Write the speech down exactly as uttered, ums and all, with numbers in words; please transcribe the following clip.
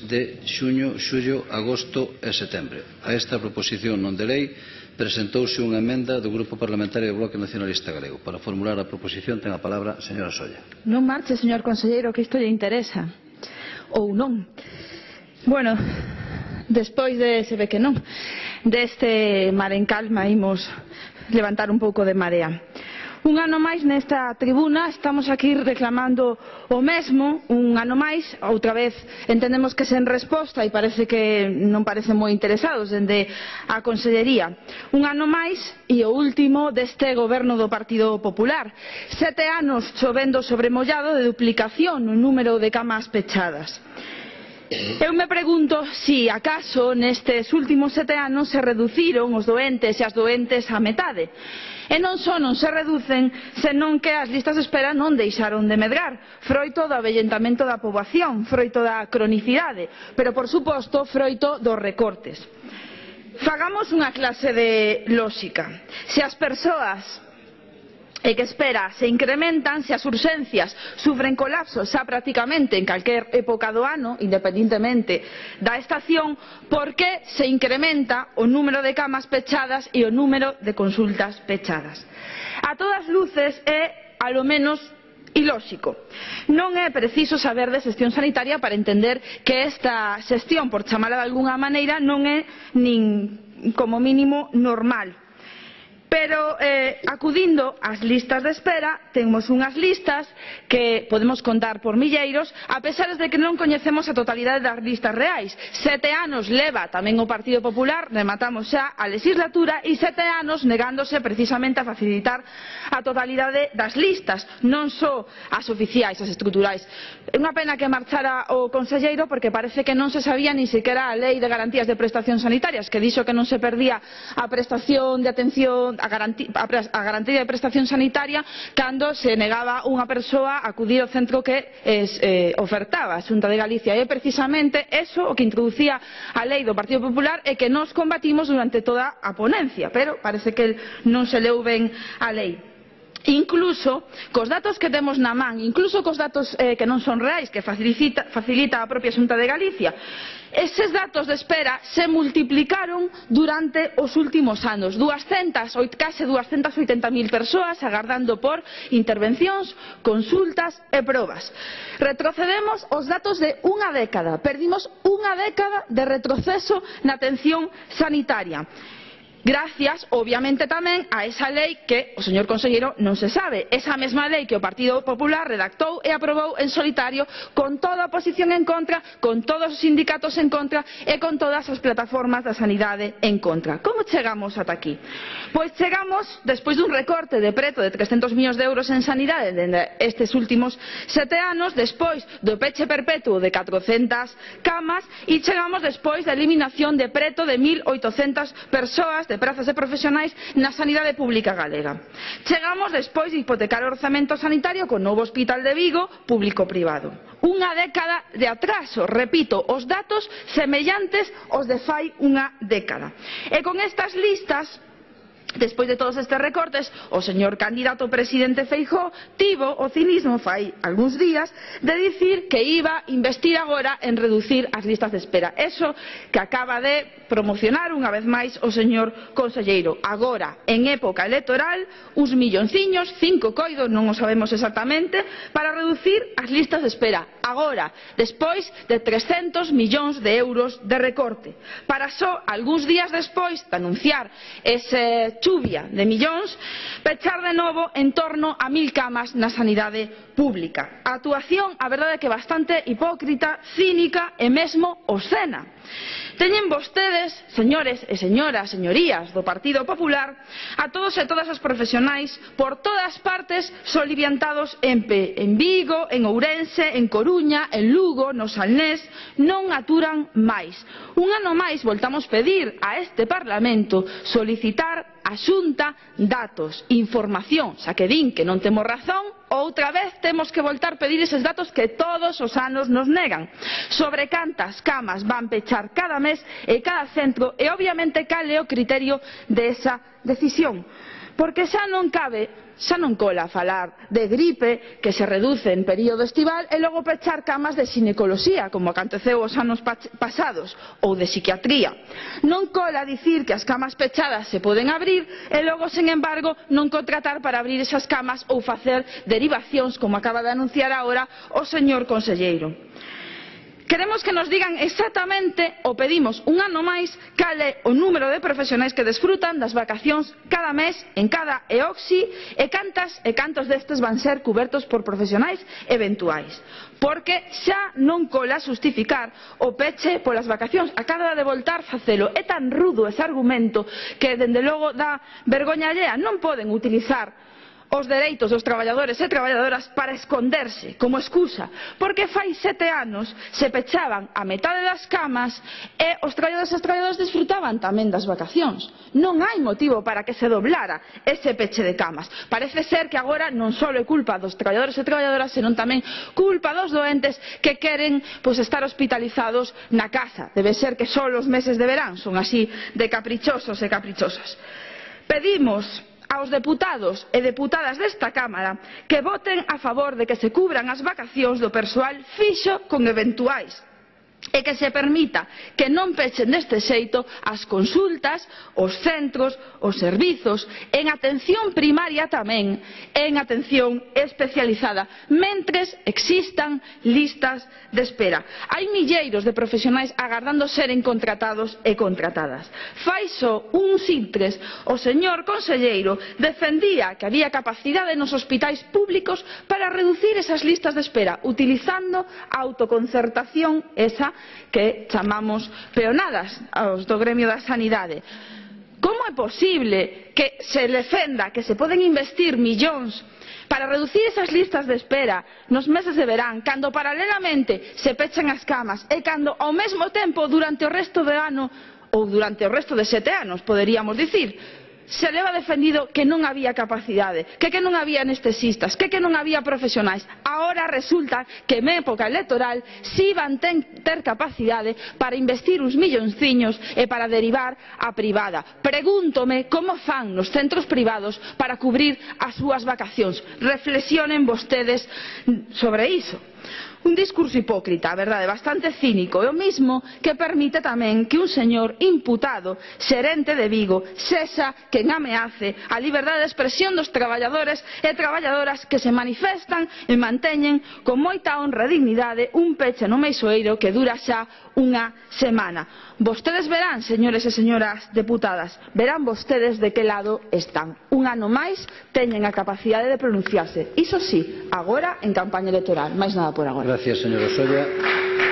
de xuño, xullo, agosto e setembro. A esta proposición non de lei presentouse unha emenda do Grupo Parlamentario do Bloque Nacionalista Galego. Para formular a proposición ten a palabra a señora Solla. Non marche, señor conselleiro, que isto lle interesa. Ou non. Bueno, despois de, se ve que non, deste mar en calma imos levantar un pouco de marea. Un ano máis nesta tribuna estamos aquí reclamando o mesmo, un ano máis, outra vez entendemos que sen resposta e parece que non parecen moi interesados dende a Consellería. Un ano máis e o último deste goberno do Partido Popular. Sete anos chovendo sobre mollado de duplicación no número de camas pechadas. Eu me pregunto se acaso nestes últimos sete anos se reduciron os doentes e as doentes á metade. E non só non se reducen, senón que as listas de espera non deixaron de medrar, froito do avellentamento da poboación, froito da cronicidade, pero por suposto froito dos recortes. Fagamos unha clase de lógica. Se as persoas e que espera se incrementan, se as urxencias sufren colapsos xa prácticamente en calquer época do ano, independentemente da estación, por que se incrementa o número de camas pechadas e o número de consultas pechadas? A todas luces é, alo menos, ilóxico. Non é preciso saber de xestión sanitaria para entender que esta xestión, por chamala de algunha maneira, non é nin como mínimo normal. Pero eh, acudindo ás listas de espera, temos unhas listas que podemos contar por milleiros, a pesar de que non coñecemos a totalidade das listas reais. Sete anos leva tamén o Partido Popular, rematamos xa a legislatura, e sete anos negándose precisamente a facilitar a totalidade das listas, non só as oficiais, as estruturais. É unha pena que marchara o conselleiro porque parece que non se sabía ni sequera a Lei de Garantías de Prestacións Sanitarias, que dixo que non se perdía a prestación de atención a garantía, a garantía de prestación sanitaria cando se negaba unha persoa a acudir ao centro que es, eh, ofertaba a Xunta de Galicia. E precisamente eso o que introducía a lei do Partido Popular e que nos combatimos durante toda a ponencia, pero parece que non se leu ben a lei. Incluso cos datos que temos na man, incluso cos datos eh, que non son reais, que facilita, facilita a propia Xunta de Galicia, eses datos de espera se multiplicaron durante os últimos anos. duascentas, case duascentas e oitenta mil persoas agardando por intervencións, consultas e probas. Retrocedemos os datos de unha década, perdimos unha década de retroceso na atención sanitaria. Gracias, obviamente, tamén a esa lei que o señor conselleiro non se sabe, esa mesma lei que o Partido Popular redactou e aprobou en solitario, con toda a oposición en contra, con todos os sindicatos en contra e con todas as plataformas da sanidade en contra. Como chegamos ata aquí? Pois chegamos despois dun recorte de preto de trescentos millóns de euros en sanidade estes últimos sete anos, despois do peche perpetuo de catrocentas camas, e chegamos despois da eliminación de preto de mil oitocentas persoas de prazas de profesionais na sanidade pública galega. Chegamos despois de hipotecar o orzamento sanitario con novo hospital de Vigo, público-privado. Unha década de atraso, repito, os datos semellantes aos de fai unha década. E con estas listas, despois de todos estes recortes, o señor candidato presidente Feijóo tivo o cinismo fai algúns días de dicir que iba a investir agora en reducir as listas de espera. Eso que acaba de promocionar unha vez máis o señor conselleiro. Agora, en época electoral, uns millonciños, cinco coidos, non o sabemos exactamente, para reducir as listas de espera. Agora, despois de trescentos millóns de euros de recorte. Para só algúns días despois de anunciar ese chuvia de millóns, pechar de novo en torno a mil camas na sanidade pública. A actuación, a verdade é que bastante hipócrita, cínica e mesmo obscena. Teñen vostedes, señores e señoras, señorías do Partido Popular, a todos e todas os profesionais por todas partes soliviantados en, P, en Vigo, en Ourense, en Coruña, en Lugo, no Salnés, non aturan máis. Un ano máis voltamos pedir a este Parlamento solicitar a Xunta datos, información, xa que din que non temos razón, outra vez temos que voltar a pedir eses datos que todos os anos nos negan, sobre cantas camas van pechar cada mes e cada centro, e obviamente cal é o criterio desa decisión. porque xa non cabe, xa non cola falar de gripe que se reduce en período estival e logo pechar camas de xinecoloxía, como aconteceu os anos pasados, ou de psiquiatría. Non cola dicir que as camas pechadas se poden abrir e logo, sen embargo, non contratar para abrir esas camas ou facer derivacións, como acaba de anunciar agora o señor conselleiro. Queremos que nos digan exactamente, ou pedimos un ano máis, cal é o número de profesionais que desfrutan das vacacións cada mes en cada E O C I e cantas e cantos destes van ser cubertos por profesionais eventuais. Porque xa non cola xustificar o peche polas vacacións. Acaba de voltar facelo. É tan rudo ese argumento que, dende logo, dá vergoña allea. Non poden utilizar os dereitos dos traballadores e traballadoras para esconderse como excusa, porque fai sete anos se pechaban a metade das camas e os traballadores e as traballadoras desfrutaban tamén das vacacións. Non hai motivo para que se doblara ese peche de camas. Parece ser que agora non só é culpa dos traballadores e traballadoras, senón tamén culpa dos doentes que queren pois, estar hospitalizados na casa. Debe ser que só os meses de verán son así de caprichosos e caprichosas. Pedimos aos deputados e deputadas desta Cámara que voten a favor de que se cubran as vacacións do persoal fixo con eventuais e que se permita que non pechen deste xeito as consultas, os centros, os servizos, en atención primaria tamén, en atención especializada, mentres existan listas de espera. Hai milleiros de profesionais agardando seren contratados e contratadas. Fai só uns intres, o señor conselleiro defendía que había capacidade nos hospitais públicos para reducir esas listas de espera, utilizando a autoconcertación esa que chamamos peonadas aos do gremio da sanidade. Como é posible que se defenda que se poden investir millóns para reducir esas listas de espera nos meses de verán, cando paralelamente se pechan as camas e cando ao mesmo tempo durante o resto do ano ou durante o resto de sete anos, poderíamos dicir, se leva defendido que non había capacidade, que que non había anestesistas, que que non había profesionais. Agora resulta que en época electoral si van ten, ter capacidade para investir uns millonciños e para derivar a privada. Pregúntome como fan nos centros privados para cubrir as súas vacacións. Reflexionen vostedes sobre iso. Un discurso hipócrita, a verdade, bastante cínico, e o mismo que permite tamén que un señor imputado, xerente de Vigo, sexa quen ameace a liberdade de expresión dos traballadores e traballadoras que se manifestan e manteñen con moita honra e dignidade un peche no Meixoeiro que dura xa unha semana. Vostedes verán, señores e señoras deputadas, verán vostedes de que lado están. Un ano máis teñen a capacidade de pronunciarse. Iso sí, agora en campaña electoral, máis nada por agora. Gracias, señora Solla.